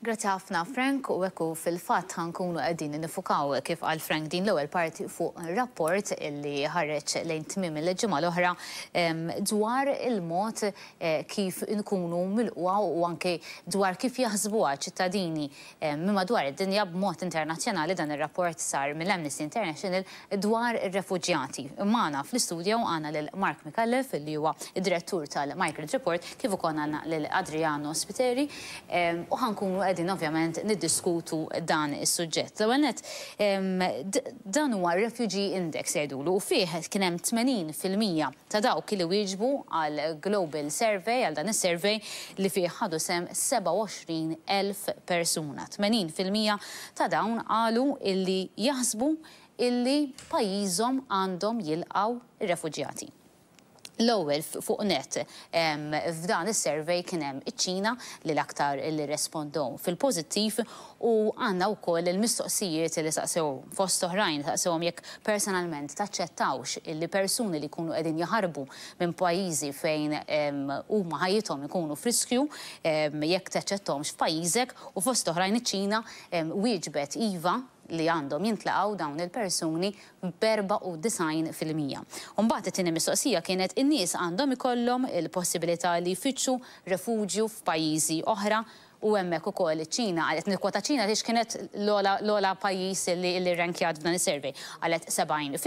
Grazzi ħafna, Frank, u ekku fil-fatt ħa nkunu qegħdin niffukaw, kif qal Frank, din l-ewwel parti fuq rapport illi ħareġ lejn tmiem il-ġimgħa l-oħra dwar il-mod kif nkunu milqugħa u anke dwar kif jaħsbuha ċittadini minn madwar id-dinja b'mod internazzjonali. Dan ir-rapport sar mill-Amnesty International dwar ir-refuġjati. Magħna fl-istudio għandna lil Mark Micallef, li huwa id-direttur tal-Migrant Report, kif ukoll għandna lil Adriano Spiteri, u ħa nkunu qegħdin ovvjament niddiskutu dan is-suġġett. L-ewwel nett, dan huwa Refugee Index jgħidulu, u fih kien hemm 80% ta' dawk li wieġbu għal Global Survey, għal dan is-survey li fih ħadu sehem 27,000 persuna. 80% ta' dawn qalu illi jaħsbu illi pajjiżhom għandhom jilqgħu ir-refuġjati. L-ewwel fuq net f'dan is-survey kien hemm iċ-Ċina li l-aktar li respondew fil-pożittiv, u għandna wkoll il-mistoqsijiet li saqsew, fost oħrajn saqsewhom jekk personalment taċċettawx illi persuni li jkunu qegħdin jaħarbu minn pajjiżi fejn huma ħajjithom ikunu f'riskju, jekk taċċetthomx f'pajjiżek, u fost oħrajn iċ-Ċina wieġbet iva li għandhom jintlaqgħu dawn il-persuni b'94%. Mbagħad it-tieni mistoqsija kienet: in-nies għandhom ikollhom il-possibilità li jfittxu refuġju f'pajjiżi oħra? U hemmhekk ukoll iċ-Ċina, qalet, nikkwota Ċina għaliex kienet l-ogħla pajjiż li rankjat f'dan is-survey, qalet 70%,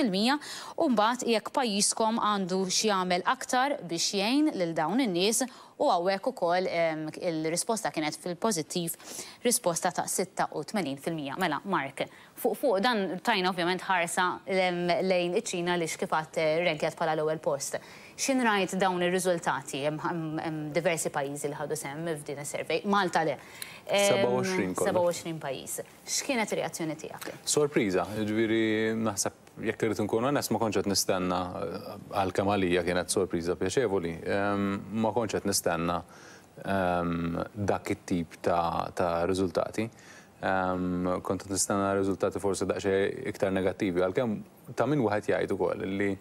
u mbagħad jekk pajjiżkom għandu x'jagħmel aktar biex jgħin lil dawn in-nies, u hawnhekk ukoll il-risposta kienet fil-pożittiv, risposta ta' 86%. Mela, Mark, fuq dan tajna ovvjament ħarsa lejn iċ-Ċina li kif għedt rankjat bħala l-ewwel post. X'ħin rajt dawn ir-riżultati, hemm diversi pajjiżi li ħadu sehem f'din is-survey, Malta le. 27 kollox. 27 pajjiż. X'kienet ir-reazzjoni tiegħek? Sorpriża, ġifieri naħseb, jekk irrid nkun onest, ma kontx qed nistenna, għalkemm għalija kienet sorpriża pjaċevoli, ma kontx qed nistenna dak it-tip ta' riżultati. Kont qed nistenna riżultati forsi daqsxejn iktar negattivi, għalkemm ta' min wieħed jgħid ukoll li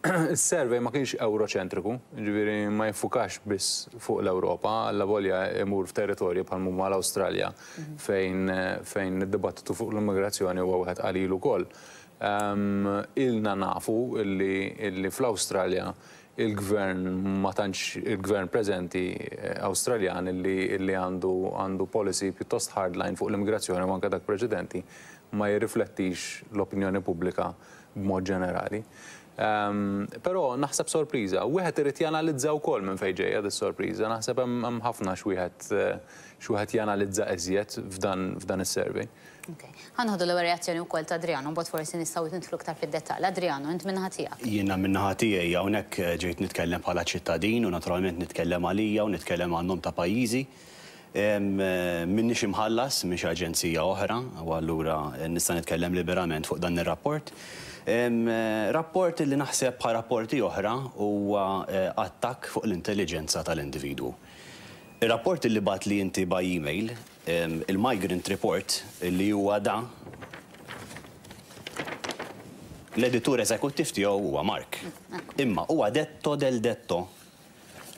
is-survey ma kienx euroċentriku, ġifieri ma jiffukax biss fuq l-Ewropa, allavolja imur f'territorji bħal huma l-Awstralja, fejn id-dibattitu fuq l-immigrazzjoni huwa wieħed qalil ukoll. Ilna nafu illi fl-Awstralja il-gvern ma tantx, il-gvern preżenti Awstraljan illi għandu policy pjuttost hardline fuq l-immigrazzjoni u anke dak preċedenti ma jirriflettix l-opinjoni pubblika b'mod ġenerali. Però naħseb sorpriża. Wieħed irid janalizza wkoll minn fejn ġejja dis-sorpriża. Naħseb hemm ħafna x'wieħed janalizza iżjed f'dan is-survey. Okay. Ħa nieħdu l-ewwel reazzjoni wkoll ta' Adriano, mbagħad forsi nistgħu nidħlu iktar fid-dettall. Adriano, int min-naħa tiegħek. Jiena min-naħa tiegħi hawnhekk ġejt nitkellem bħala ċittadin u naturalment nitkellem għalija u nitkellem għan-nom ta' pajjiżi. M'inix imħallas minn xi aġenzija oħra u allura nista' nitkellem liberament fuq dan ir-rapport. Rapport li naħseb bħal rapporti oħra huwa attakk fuq l-intelligenza tal-individwu. Ir-rapport li bgħattli inti by email, il-Migrant Report, li huwa da, l-editur eżekuttiv tiegħu huwa Mark. Imma huwa detto del detto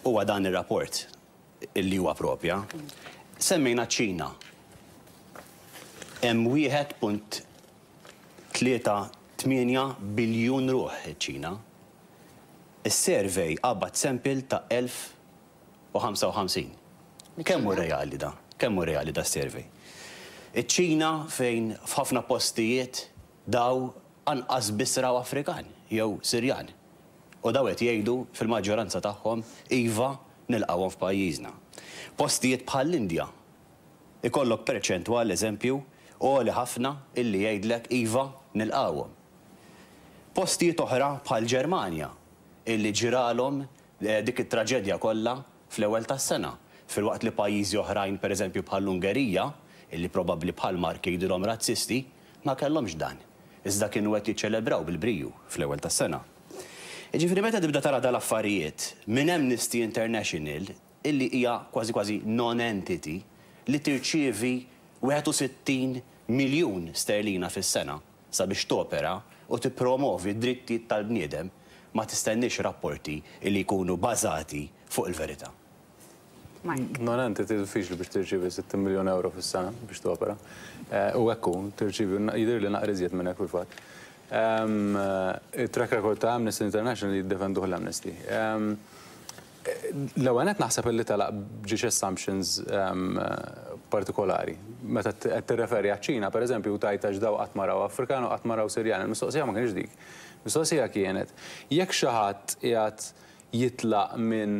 huwa dan ir-rapport illi huwa propja. Semmejna ċ-Ċina. Hemm 1.38 biljun ruħ iċ-Ċina. Is-survey qabad sample ta' 1055. Kemm hu reali da? Kemm hu reali da survey? Iċ-Ċina, fejn f'ħafna postijiet daw anqas biss raw Afrikan jew Sirjan. U daw qed jgħidu fil-maġġoranza tagħhom iva, nilqgħuhom f'pajjiżna. Postijiet bħall-Indja ikollok perċentwal, eżempju, għoli ħafna illi jgħidlek iva, nilqgħuhom. Postijiet oħra bħal Ġermanja, illi ġralhom dik it-traġedja kollha fl-ewwel tas-sena, filwaqt li pajjiżi oħrajn, pereżempju bħall-Ungerija, illi probabbli bħal Mark jgħidulhom razzisti, ma kellhomx dan. Iżda kienu qed jiċċelebraw bil-briju fl-ewwel tas-sena. Jiġifieri meta tibda tara dal-affarijiet minn Amnesty International, illi hija kważi kważi non-entity li tirċievi 61 miljun sterlina fis-sena sabiex topera u tippromovi d-drittijiet tal-bniedem, ma tistenniex rapporti li jkunu bażati fuq il-verità. Mark. Non-entity diffiċli biex tirċievi 60 miljun euro fis-sena biex topera. U hekk hu, tirċievi jidhirli naqra iżjed minn hekk fil-fatt. Il-track record ta' Amnesty International jiddefenduh l-Amnesty. L-ewwel nett naħseb illi telaq b'ġiex assumptions partikolari. Meta qed tirreferi għaċ-Ċina, pereżempju, u tgħid għax daw qatt ma raw Afrikan u qatt ma raw Sirjan. Il-mistoqsija ma kienx dik. Mistoqsija kienet jekk xi ħadd qiegħed jitlaq minn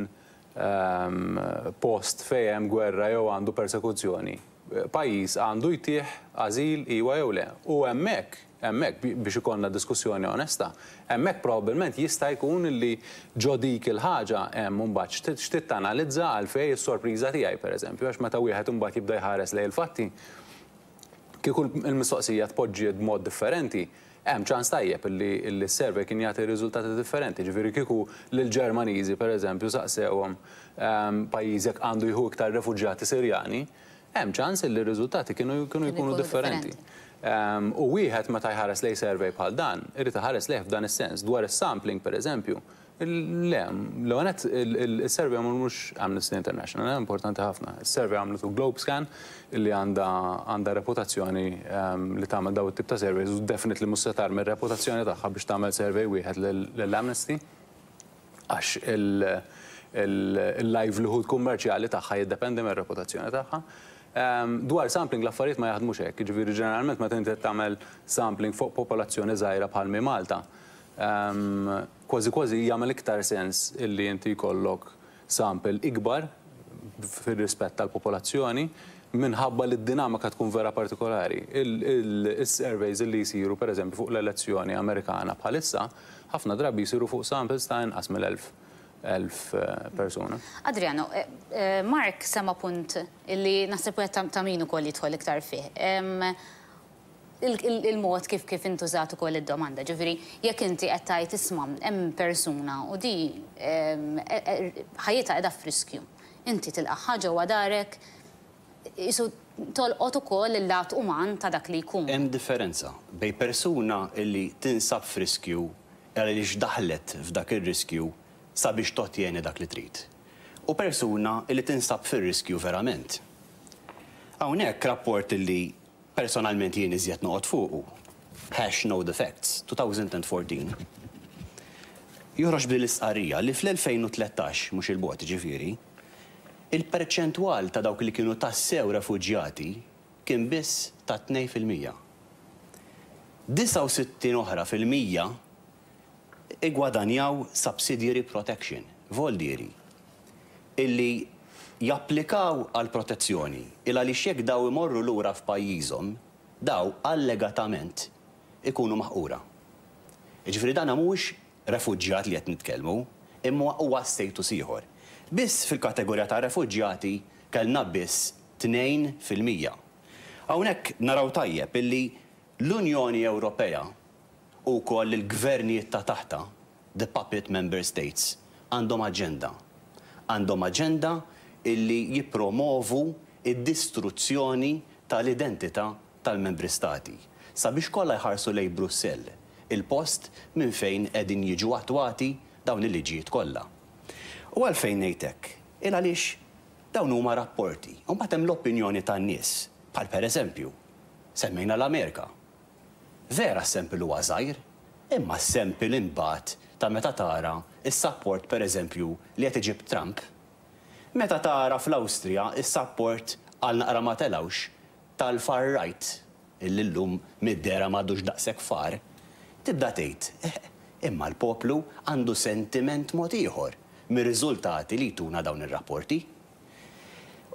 post fejn hemm gwerra jew għandu persekuzzjoni, pajjiż għandu jtih ażil iwa jew le. U hemmhekk biex ikollna diskussjoni onesta, hemmhekk probabbilment jista' jkun li ġo dik il-ħaġa hemm imbagħad x'trid tanalizza għalfejn is-sorpriża tiegħi, pereżempju, għax meta wieħed imbagħad jibda jħares lejn il-fatti, kieku l-mistoqsija tpoġġiet b'mod differenti, hemm ċans tajjeb li s-survey kien jagħti riżultati differenti. Ġifieri kieku lill-Ġermaniżi, pereżempju, saqsewhom pajjiżek għandu jieħu iktar refuġjati Sirjani, hemm ċans li r-riżultati kienu jkunu differenti. U wieħed meta jħares lejn survey bħal dan, irid iħares lejh f'dan is-sens. Dwar is-sampling, pereżempju, le, l-ewwel il-survey għamlu mhux Amnesty International, importanti ħafna. Is-survey għamlutu Globescan, illi għandha reputazzjoni li tagħmel daw it-tip ta' surveys u definitely mhux se tarmi r-reputazzjoni tagħha biex tagħmel survey wieħed lill-Amnesty, għax il-livelihood kummerċjali tagħha jiddependi mir-reputazzjoni tagħha. Dwar sampling l-affarijiet ma jaħdmux hekk, jiġifieri ġeneralment meta inti tagħmel sampling fuq popolazzjoni żgħira bħal mi Malta, kważi kważi jagħmel iktar sens illi inti jkollok sample ikbar fir-rispett tal-popolazzjoni minħabba li d-dinamika tkun vera partikolari. Il-surveys li jsiru, pereżempju, fuq l-elezzjoni Amerikana bħalissa, ħafna drabi jsiru fuq samples ta' inqas mill-1000 persuna. Adriano, Mark sema punt illi naħseb wieħed ta' min ukoll jidħol iktar fih. Il-mod kif intużat ukoll id-domanda, ġifieri jekk inti qed tgħid isma' hemm persuna u di ħajjitha qiegħda f'riskju. Inti tilqagħha ġewwa darek, isu tolqot ukoll il-lat uman ta' dak li jkun. Hemm differenza bejn persuna illi tinsab f'riskju għaliex daħlet f'dak ir-riskju sabiex totjeni dak li trid, u persuna illi tinsab fir-riskju verament. Hawnhekk rapport illi personalment jien iżjed noqgħod fuqu, #KnowTheFacts, 2014, joħroġ bil-istqarrija li fl-2013, mhux il-bogħod ġifieri, il-perċentwal ta' dawk li kienu tassew refuġjati kien biss ta' 2%. 69 oħra fil-mija igwadanjaw subsidiary protection, voldieri, illi japplikaw għal protezzjoni, il għaliex jekk daw imorru lura f'pajjiżhom, daw allegatament ikunu maħqura. Jiġifieri dan mhuwiex refuġjat li qed nitkellmu, imma huwa status ieħor. Biss fil-kategorija ta' refuġjati kellna biss 2%. Hawnhekk naraw tajjeb illi l-Unjoni Ewropea u wkoll il-gvernijiet ta' taħta, the puppet member states, għandhom aġenda. Għandhom aġenda illi jippromovu id-distruzzjoni tal-identità tal-membri stati. Sabiex kollha jħarsu lejn Brussell, il-post minn fejn qegħdin jiġu attwati dawn il-liġijiet kollha. U għalfejn ngħidlek? Il għaliex dawn huma rapporti. U mbagħad hemm l-opinjoni tan-nies, bħal pereżempju, semmejna l-Amerika. Vera s-sample huwa żgħir, imma s-sample imbagħad ta' meta tara s-support pereżempju li qed iġib Trump. Meta tara fl-Awstrija s-support għal naqra ma telawx tal-far right, illi llum mid-dehra m'għadux daqshekk far, tibda tgħid, imma l-poplu għandu sentiment mod ieħor mir-riżultati li jtuna dawn ir-rapporti.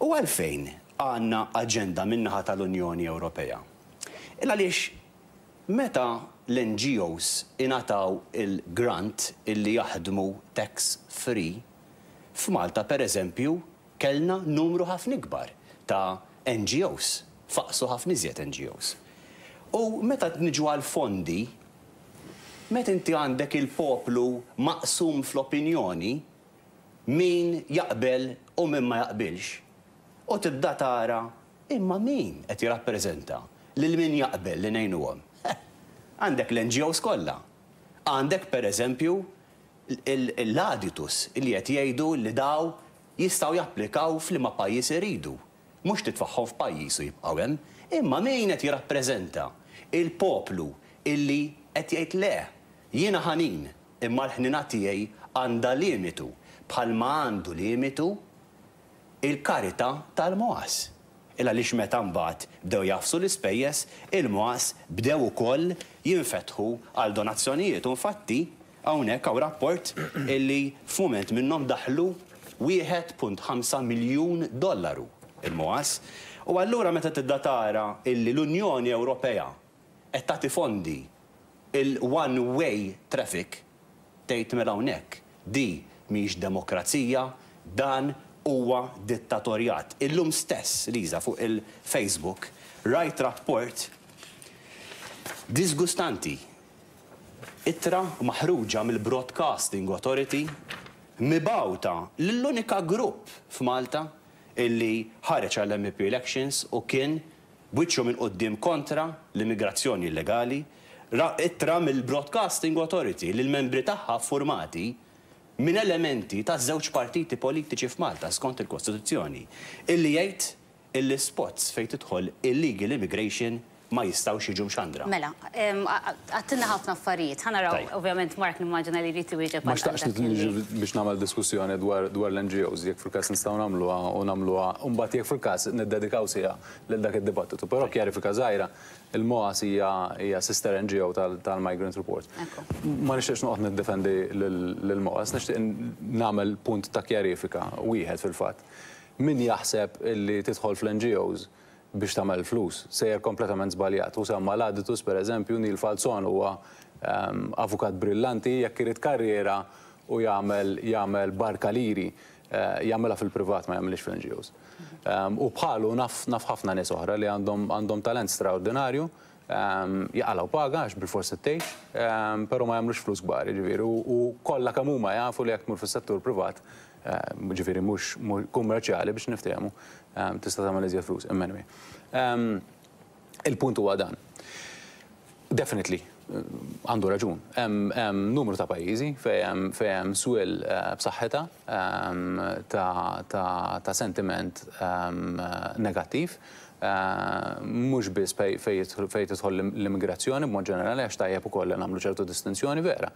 U għalfejn għandna aġenda min-naħa tal-Unjoni Ewropea? Il għaliex meta l-NGOs ingħataw il-grant illi jaħdmu tax free, f'Malta pereżempju kellna numru ħafna ikbar ta' NGOs, faqsu ħafna iżjed NGOs. U meta niġu għal fondi, meta inti għandek il-poplu maqsum fl-opinjoni, min jaqbel u min ma jaqbilx, u tibda tara imma min qed jirrappreżenta lil min jaqbel li ngħinuhom. Għandek l-NGOs kollha. Għandek pereżempju l-Aditus li qed jgħidu li daw jistgħu japplikaw f'liema pajjiż iridu. Mhux titfagħhom f'pajjiż u jibqgħu hemm, imma min qed jirrappreżenta il-poplu illi qed jgħid le, jiena ħanin, imma l-ħnina tiegħi għandha limitu bħalma għandu limitu il-karità tal-MOAS. Il għaliex meta mbagħad bdew jagħfsu l-ispejjeż, il-MOAS bdew ukoll jinfetħu għal donazzjonijiet u infatti hawnhekk hawn rapport illi f'mument minnhom daħlu 1.5 miljun dollaru il-MOAS. U allura meta tibda tara illi l-Unjoni Ewropea qed tagħti fondi il-one way traffic, tgħid mela hawnhekk di mhix demokrazija, dan huwa dittatorjat. Illum stess, Liza, fuq il-Facebook rajt rapport disgustanti. Ittra maħruġa mill-Broadcasting Authority mibgħuta lill-unika grupp f'Malta illi ħareġ għall-MEP elections u kien b'wiċċu minn quddiem kontra l-immigrazzjoni illegali, ittra mill-Broadcasting Authority li l-membri tagħha ffurmati minn elementi ta' żewġ partiti politiċi f'Malta skont il-Kostituzzjoni, illi jgħid illi spots fejn tidħol illegal immigration ma jistgħux jiġu mxandra. Mela, għedtilna ħafna affarijiet. Ħa naraw, ovvjament, Mark nimmaġina li jrid iwieġeb. Ma xtaqx niġi biex nagħmel diskussjoni dwar l-NGOs, jekk fil-każ nistgħu nagħmluha u nagħmluha, u mbagħad jekk fil-każ niddedikaw siegħa lil dak id-dibattitu. Però kjarifika żgħira, il-MOAS hija sister NGO tal-Migrant Report. Ma nixtieqx noqgħod niddefendi lill-MOAS, nixtieq nagħmel punt ta' kjarifika wieħed fil-fatt. Min jaħseb illi tidħol fl-NGOs biex tagħmel flus, sejjer kompletament żbaljat. U semma l-Aditus, per eżempju, Neil Falzon huwa avukat brillanti, jekk irid karriera u jagħmel barka liri, jagħmilha fil-privat, ma jagħmilx fl-NGOs. U bħalu naf ħafna nies oħra li għandhom talent straordinarju, jaqalgħu paga għax bil-forsi tgħix, però ma jagħmlux flus kbar, jiġifieri, u kollha kemm huma jafu li jekk tmur fis-settur privat, ġifieri mhux kummerċjali biex niftehmu, tista' tagħmel iżjed flus, imma anyway. Il-punt huwa dan. Definitely, għandu raġun. Hemm numru ta' pajjiżi fejn hemm swell b'saħħitha ta' sentiment negattiv. Mhux biss fejn tidħol l-immigrazzjoni b'mod ġenerali, għax tajjeb ukoll li nagħmlu ċertu distinzjoni vera.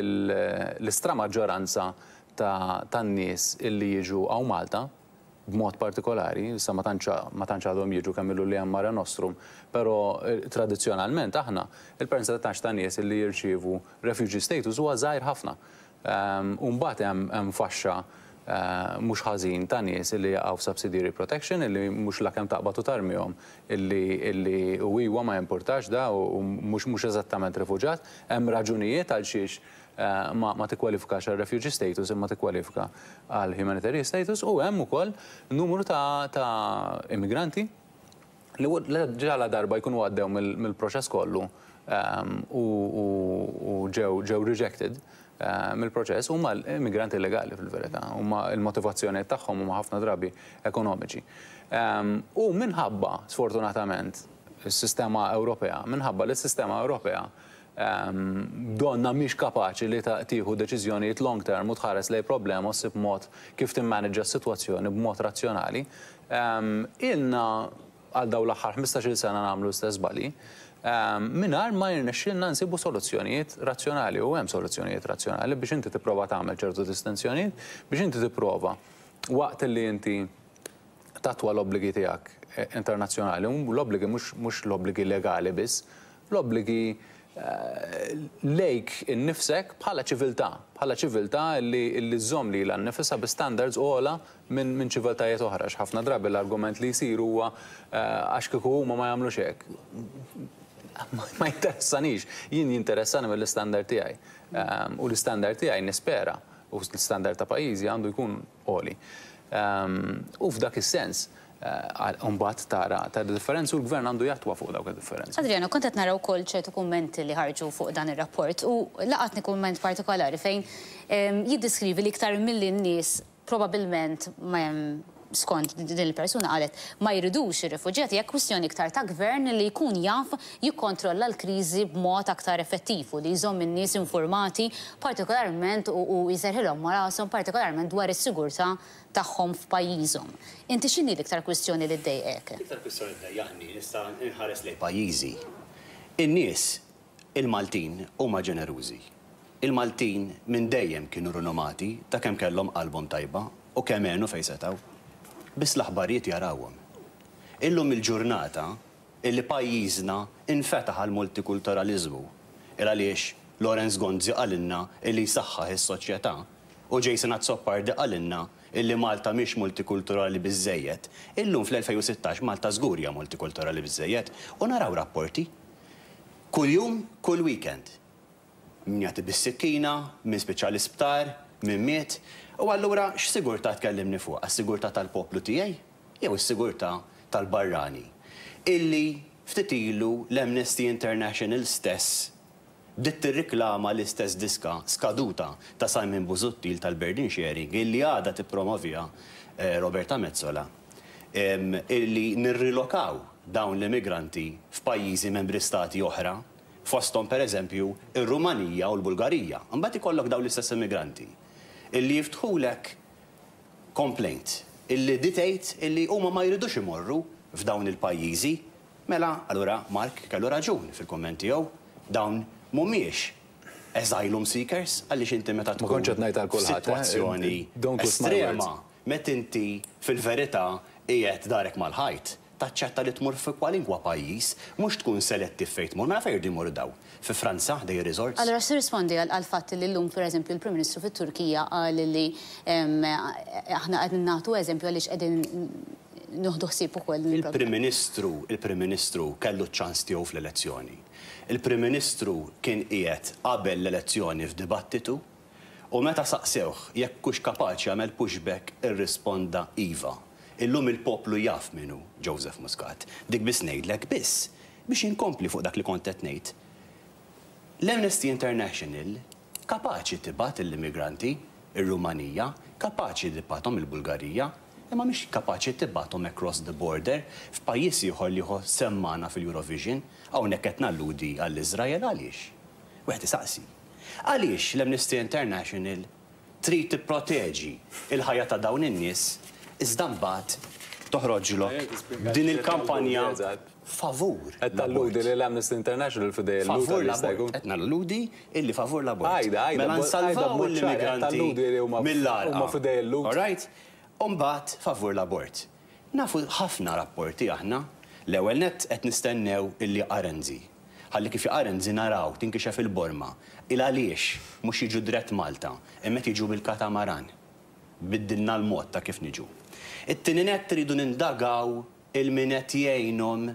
L-istra maġġoranza tan-nies illi jiġu hawn Malta b'mod partikolari, issa ma tantx għadhom jiġu kemm ilu li hemm Mare Nostrum, però tradizzjonalment aħna il-percentaġġ ta' nies illi jirċievu refugee status huwa żgħir ħafna. U mbagħad hemm faxxa mhux ħażin ta' nies illi jaqgħu f'subsidiary protection, illi mhux la kemm taqbad u tarmihom illi u iwa ma jimpurtax da u mhux eżattament rifuġat, hemm raġunijiet għal xiex ma tikkwalifikax għal refugee status imma tikkwalifika għal humanitarian status, u hemm ukoll numru ta' immigranti li ġala darba jkunu għaddew mill-proċess kollu u ġew rejected mill-proċess, huma immigranti illegali fil-verità, huma il-motivazzjoni tagħhom huma ħafna drabi ekonomiċi. U minħabba, sfortunatament, is-sistema Ewropea, minħabba li s-sistema Ewropea donna mhix kapaċi li tieħu deċiżjonijiet long term u tħares lejn problema u ssib mod kif timmaneġġa s-sitwazzjoni b'mod razzjonali. Ilna għal dawn l-aħħar 15-il sena nagħmlu l-istess żbalji, mingħajr ma jirnexxielna nsibu soluzzjonijiet razzjonali, u hemm soluzzjonijiet razzjonali biex inti tipprova tagħmel ċertu distinzjonijiet, biex inti tipprova waqt li inti tattwa l-obbligi tiegħek internazzjonali, u l-obbligi mhux l-obbligi legali biss, l-obbligi lejk innifsek bħala ċiviltà, bħala ċiviltà li żżomm lilha nnifisha bi standards ogħla minn ċiviltajiet oħra. Ħafna drabi l-argument li jsir huwa għax kieku huma ma jagħmlux hekk. Ma jinteressanix, jien jinteressani mill-istandard tiegħi. U l-istandard tiegħi nispera u l-istandard ta' pajjiżi għandu jkun għoli. U f'dak is-sens, mbagħad tara ta' differenzi u l-gvern għandu jattwa fuq dawk id-differenzi. Adriano, kont qed nara wkoll ċertu kummenti li ħarġu fuq dan ir-rapport u laqatni kumment partikolari fejn jiddiskrivi li iktar milli n-nies probabbilment skont din il-persuna qalet ma jridux ir-rifuġjati, hija kwistjoni iktar ta' gvern li jkun jaf jikkontrolla l-kriżi b'mod aktar effettiv u li jżomm in-nies informati partikolarment u jserrħilhom ma' rashom partikolarment dwar is-sigurtà tagħhom f'pajjiżhom. Inti x'inhi l-iktar kwistjoni li ddejqek? L-iktar kwistjoni li ddejjaqni, nista' nħares lejn pajjiżi. In-nies, il-Maltin, huma ġenerużi. Il-Maltin minn dejjem kienu rinomati ta' kemm kellhom qalbhom tajba u kemm għenu fejn setgħu. Biss l-aħbarijiet jarawhom. Illum il-ġurnata illi pajjiżna infetaħ għall-multikulturaliżmu, il għaliex Lawrence Gonzi qalilna illi jsaħħaħ is-soċjetà u Jason Azzopardi qalilna illi Malta mhix multikulturali biżżejjed, illum fl-2016 Malta żgur hija multikulturali biżżejjed u naraw rapporti kuljum, kull weekend. Min jagħti bis-sikkina, min spiċċa l-isptar, min miet. U allura x'sigurtà tkellimni fuqha? Is-sigurtà tal-poplu tiegħi jew is-sigurtà tal-barrani? Illi ftit ilu l-Amnesty International stess bdiet tirriklama l-istess diska skaduta ta' Simon Busuttil tal-burden sharing illi għadha tippromoviha Roberta Metsola, illi nirrilokaw dawn l-immigranti f'pajjiżi membri stati oħra, fosthom pereżempju r-Rumanija u l-Bulgarija. Imbagħad ikollok dawn l-istess immigranti illi jiftħulek complaint illi di tgħid illi huma ma jridux imorru f'dawn il-pajjiżi. Mela, allura Mark kellu raġun fil-kumment tiegħu, dawn mhumiex asylum seekers għaliex inti meta Ma kontx tkun qed ngħid għal kulħadd, eh? f'sitwazzjoni Don't twist my words. estrema, meta inti fil-verità qiegħed darek mal-ħajt, taċċetta li tmur fi kwalinkwa pajjiż, mhux tkun selettiv fejn tmur. Mela fejn jridu jmorru daw? Fi Franza, ħdej ir-resorts? Allura x'tirrispondi għall-fatt li llum pereżempju l-Prim Ministru fit-Turkija qal li aħna qed nagħtu eżempju għaliex qegħdin nieħdu ħsieb ukoll din Il-Prim il-problema. Ministru, il-Prim Ministru kellu ċ-ċans tiegħu fl-elezzjoni. Il-Prim Ministru kien qiegħed qabel l-elezzjoni f'dibattitu u meta saqsewh jekk hux kapaċi jagħmel pushback irrisponda iva. Illum il-poplu jaf min hu Joseph Muscat. Dik biss ngħidlek biss biex inkompli fuq dak li kont qed ngħid. L-Amnesty International kapaċi tibgħat l-immigranti ir-Rumanija, kapaċi tibgħathom il-Bulgarija, imma mhix kapaċi tibgħathom across the border f'pajjiż ieħor li hu semmana fil-Eurovision, hawnhekk qed nalludi għall-Iżrael għaliex? Wieħed isaqsi. Għaliex l-Amnesty International trid tipproteġi il-ħajja ta' dawn in-nies iżda mbagħad toħroġlok din il-kampanja favur Qed talludi li l-Amnesty International f'idej il-Lhud Favur jista' l-abort. jkun. Qed nalludi illi favur l-abort. Għajda, għajda, Mela għajda nsalvaw b'mod ċar, qed l-immigranti talludi li huma mill-għarqa. huma f'idej il-Lhud. All right? Umbagħad favur l-abort. Nafu ħafna rapporti aħna. L-ewwel nett qed nistennew illi Renzi. Ħalli kif Renzi naraw tinkixef il-borma. Il għaliex mhux jiġu drett Malta, imma qed jiġu bil-katamaran. Biddilna l-mod ta' kif niġu. It-tieni nett tridu nindagaw il-min qed jgħinhom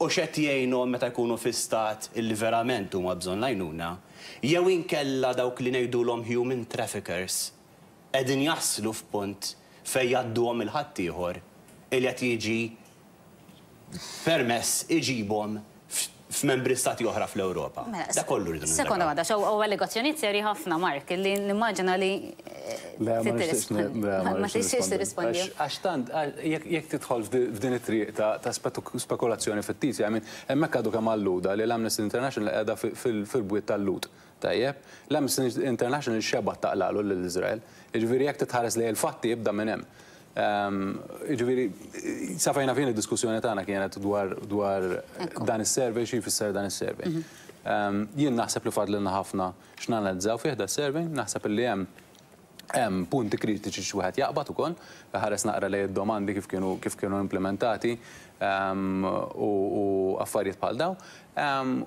u x'qed jgħinhom meta jkunu fi stat illi verament huma bżonn l-għajnuna, jew inkella dawk li ngħidulhom human traffickers qegħdin jaslu f'punt fejn jgħadduhom il-ħaddieħor illi qed jiġi permess iġibhom f'membri stati oħra fl-Ewropa. Mela, Da kollu rridu Sekonda nindagaw. waħda, xaw u allegazzjonijiet serji ħafna, Mark, li nimmaġina li Le, ma trid nixtieqx tirrispondi. le, Ma nixtieqx tixtieqx nirrispondi. tirrispondi. Għax tant, jekk tidħol f'din it-triq ta' spekulazzjoni fittizja, I mean, hemmhekk għadu kemm alluda li l-Amnesty International qiegħda fil-bwiet tal-Lhud. Tajjeb, l-Amnesty International xebgħet taqlagħlu lill-Iżrael. Jiġifieri jekk titħares li l-fatti jibda minn hemm. Jiġifieri, sa fejn naf jien id-diskussjoni tagħna kienet dwar dan is-survey, xi jfisser dan is-survey. Jien naħseb li fadlilna ħafna x'nanalizzaw fih da survey, naħseb li hemm punti kritiċi xi wieħed jaqbad ukoll, ħares naqra lejn id-domandi kif kienu implementati u affarijiet bħal daw.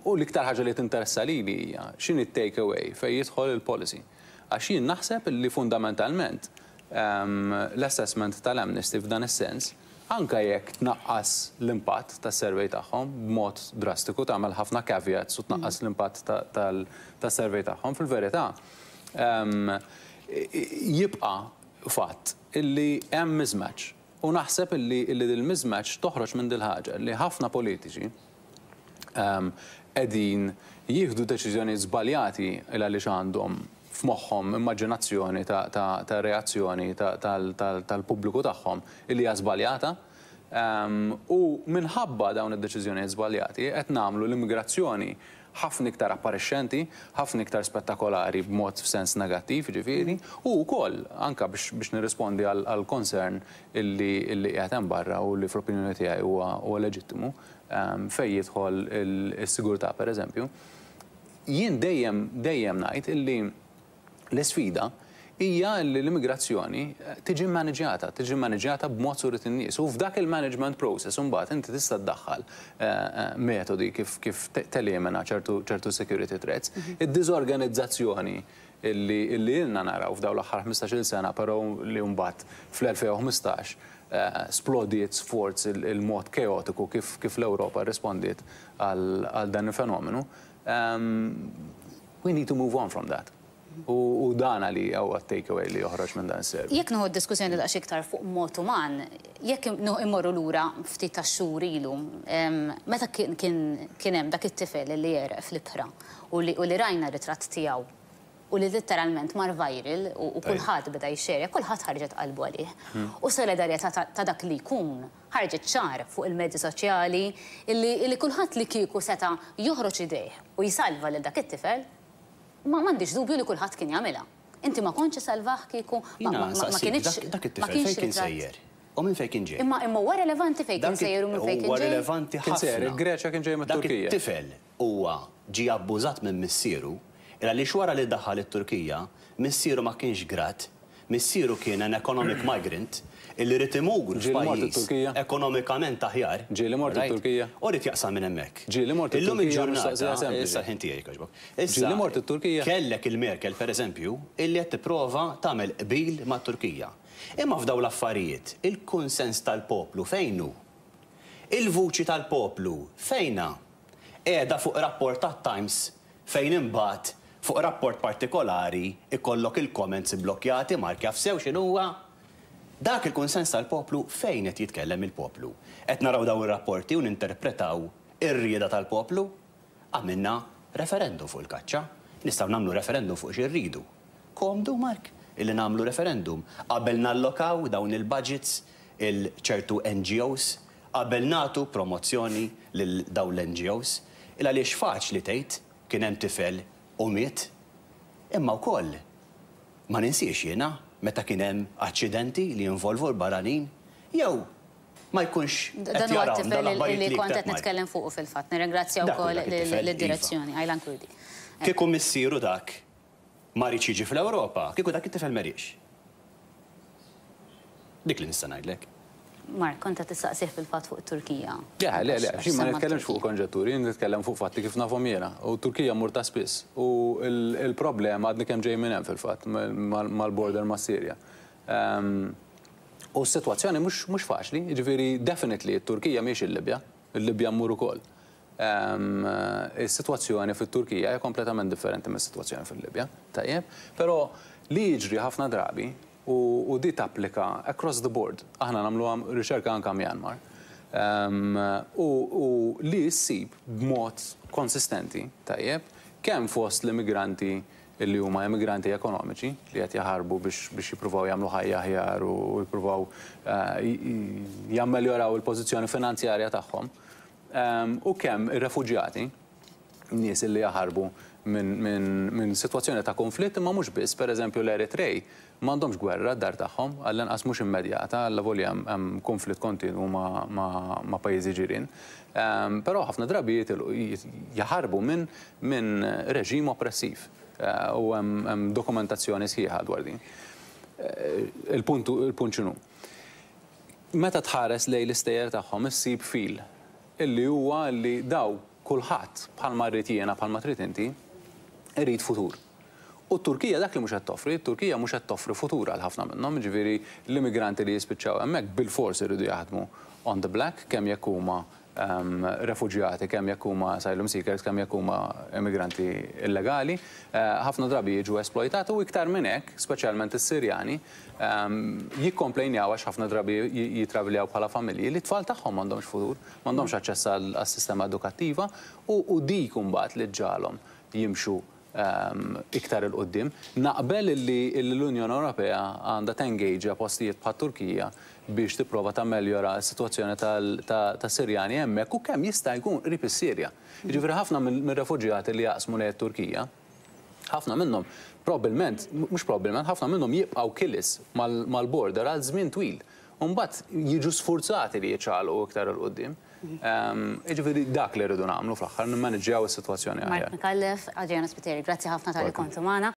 U l-iktar ħaġa li tinteressa lili hija x'inhi take away fejn jidħol il-policy. Għax jien naħseb li fundamentalment l-assessment tal-Amnesty f'dan is-sens anka jekk tnaqqas l-impatt tas-survey tagħhom b'mod drastiku, tagħmel ħafna caveats u tnaqqas l-impatt tas-survey tagħhom, fil-verità jibqa' fatt illi hemm mismatch. U naħseb illi dil-mismatch toħroġ minn dil-ħaġa li ħafna politiċi qegħdin jieħdu deċiżjoni żbaljati il għaliex għandhom f'moħħhom immaġinazzjoni ta' reazzjoni tal-pubbliku tagħhom illi hija żbaljata. U minħabba dawn id-deċiżjonijiet żbaljati qed nagħmlu l-immigrazzjoni ħafna iktar apparixxenti, ħafna iktar spettakolari b'mod f'sens negattiv, ġifieri, u wkoll anke biex nirrispondi għal concern illi qiegħed hemm barra u li fl-opinjoni tiegħi huwa leġittimu fejn jidħol is-sigurtà, pereżempju. Jien dejjem dejjem ngħid illi l-isfida hija li l-immigrazzjoni tiġi maniġjata, tiġi maniġjata b'mod surit in-nies. U f'dak il-management process imbagħad inti tista' tdaħħal metodi kif telimina ċertu security threats. Id-diżorganizzazzjoni illi ilna naraw f'dawn l-aħħar 15-il sena, però li mbagħad fl-2015 splodiet sforz il-mod kaotiku kif l-Ewropa rispondiet għal dan il-fenomenu. We need to move on from that. U dana li huwa takeaway li joħroġ minn dan is-survey. Jekk nieħu diskussjoni daqs iktar fuq mod uman, jekk immorru lura ftit ta' xhur ilu, meta kien hemm dak it-tifel li għereq fl-ibħra u li rajna ritratt tiegħu u li letteralment mar viral u kulħadd beda jxerja, kulħadd ħarġet qalbu għalih. U solidarjetà ta' dak li jkun ħarġet ċar fuq il-mezzi soċjali illi kulħadd li kieku seta' joħroġ idejh u jsalva lil dak it-tifel, ma m'għandix dubju li kulħadd kien jagħmilha. Inti ma kontx salvah kieku ma kienx Dak it-tifel fejn kien sejjer? U minn fejn kien ġej? Imma huwa relevanti fejn kien sejjer u minn fejn kien ġej? Huwa relevanti ħafna. Kien sejjer il-Greċja, kien ġej mit-Turkija. Dak it-tifel huwa ġie abbużat minn missieru, għaliex wara li daħal it-Turkija, missieru ma kienx grat, missieru kien an economic migrant illi rid imur f'pajjiż ekonomikament aħjar. Ġieli mort it-Turkija. U rid jaqsam minn hemmhekk. Ġieli mort Illum il-ġurnata, issa ħin tiegħi jogħġbok. Ġieli mort it-Turkija. Kellek il-Merkel, pereżempju, illi qed tipprova tagħmel qbil mat-Turkija. Imma f'daw l-affarijiet, il-kunsens tal-poplu fejn hu? Il-vuċi tal-poplu fejna? Qiegħda fuq rapport tat-Times fejn imbagħad fuq rapport partikolari ikollok il-comments blokkjati, Mark jaf sew x'inhuwa. Dak il-kunsens tal-poplu, fejn qed jitkellem il-poplu? Qed naraw daw ir-rapporti u ninterpretaw ir-rieda tal-poplu? Għamilna referendum fuq il-kaċċa, nistgħu nagħmlu referendum fuq xi rridu. Komdu, Mark, illi nagħmlu referendum qabel nallokaw dawn il-budgets lil ċertu NGOs, qabel nagħtu promozzjoni lil dawn l-NGOs, il għaliex faċli tgħid kien hemm tifel u miet, imma wkoll ma ninsiex jiena meta kien hemm aċċidenti li jinvolvu l-barranin jew ma jkunx Dan huwa t-tifel li kont qed nitkellem fuqu fil-fatt. Nirringrazzja wkoll lid-direzzjoni, Aylan Kurdi. Kieku missieru dak ma riedx jiġi fl-Ewropa, kieku dak it-tifel ma riedx. Dik li nista' ngħidlek. Mark, kont qed tistaqsih fil-fatt fuq Turkija. Ja, le, le, xi ma nitkellemx fuq konġetturi, nitkellem fuq fatti kif nafhom jiena. U Turkija mur ta' spiss. U il-problema, għadni kemm ġej minn hemm fil-fatt, mal-border ma' Sirja. U s-sitwazzjoni mhux faċli, jiġifieri definitely t-Turkija mhijiex il-Libja, il-Libja mmur ukoll. Is-sitwazzjoni fit-Turkija hija kompletament differenti mis-sitwazzjoni fil-Libja, tajjeb, però li jiġri ħafna drabi u di tapplika across the board. Aħna nagħmlu riċerka anka Myanmar. U li ssib b'mod konsistenti, tajjeb, kemm fost l-immigranti illi huma immigranti ekonomiċi li qed jaħarbu biex jippruvaw jagħmlu ħajja aħjar u jippruvaw jammeljoraw il-pożizzjoni finanzjarja tagħhom, u kemm ir-refuġjati, nies illi jaħarbu minn sitwazzjoni ta' konflitt, imma mhux biss, pereżempju l-Eritrej m'għandhomx gwerra d-dar tagħhom, għall-inqas mhux immedjata, allavolja hemm konflitt kontinwu ma' pajjiżi ġirien. Però ħafna drabi jaħarbu minn reġim oppressiv u hemm dokumentazzjoni sħiħa dwar din. Il-punt x'inhu? Meta tħares lejn l-istejjer tagħhom issib fil illi huwa li daw kulħadd, bħalma rrid jiena, bħalma trid inti, irid futur. U t-Turkija dak li mhux qed toffri, t-Turkija mhux qed toffri futur għal ħafna minnhom, jiġifieri l-immigranti li jispiċċaw hemmhekk bilfors iridu jaħdmu on the black, kemm jekk huma refuġjati, kemm jekk huma asylum seekers, kemm jekk huma immigranti illegali, ħafna drabi jiġu esploitati u iktar minn hekk, speċjalment is-Sirjani, jikkomplejnjaw għax ħafna drabi jitraviljaw bħala familji li t-tfal tagħhom m'għandhomx futur, m'għandhomx aċċess għas-sistema edukattiva u dik imbagħad li ġġagħalhom jimxu. iktar 'il quddiem. Naqbel li l-Unjoni Ewropea għandha tengaġa postijiet bħat-Turkija biex tipprova tammeljora s-sitwazzjoni tas-Sirjani hemmhekk u kemm jista' jkun qrib is-Sirja. Jiġifieri ħafna mir-refuġjati li jaqsmu lejn it-Turkija, ħafna minnhom probbilment, mhux probbilment, ħafna minnhom jibqgħu Kilis mal-border għal żmien twil. U mbagħad jiġu sfurzati li jiċċaqalqu iktar 'il quddiem. Jiġifieri dak li rridu nagħmlu fl-aħħar, nimmaniġġjaw is-sitwazzjoni aħjar. Mark Micallef, Adriano Spiteri, grazzi ħafna talli kontu magħna.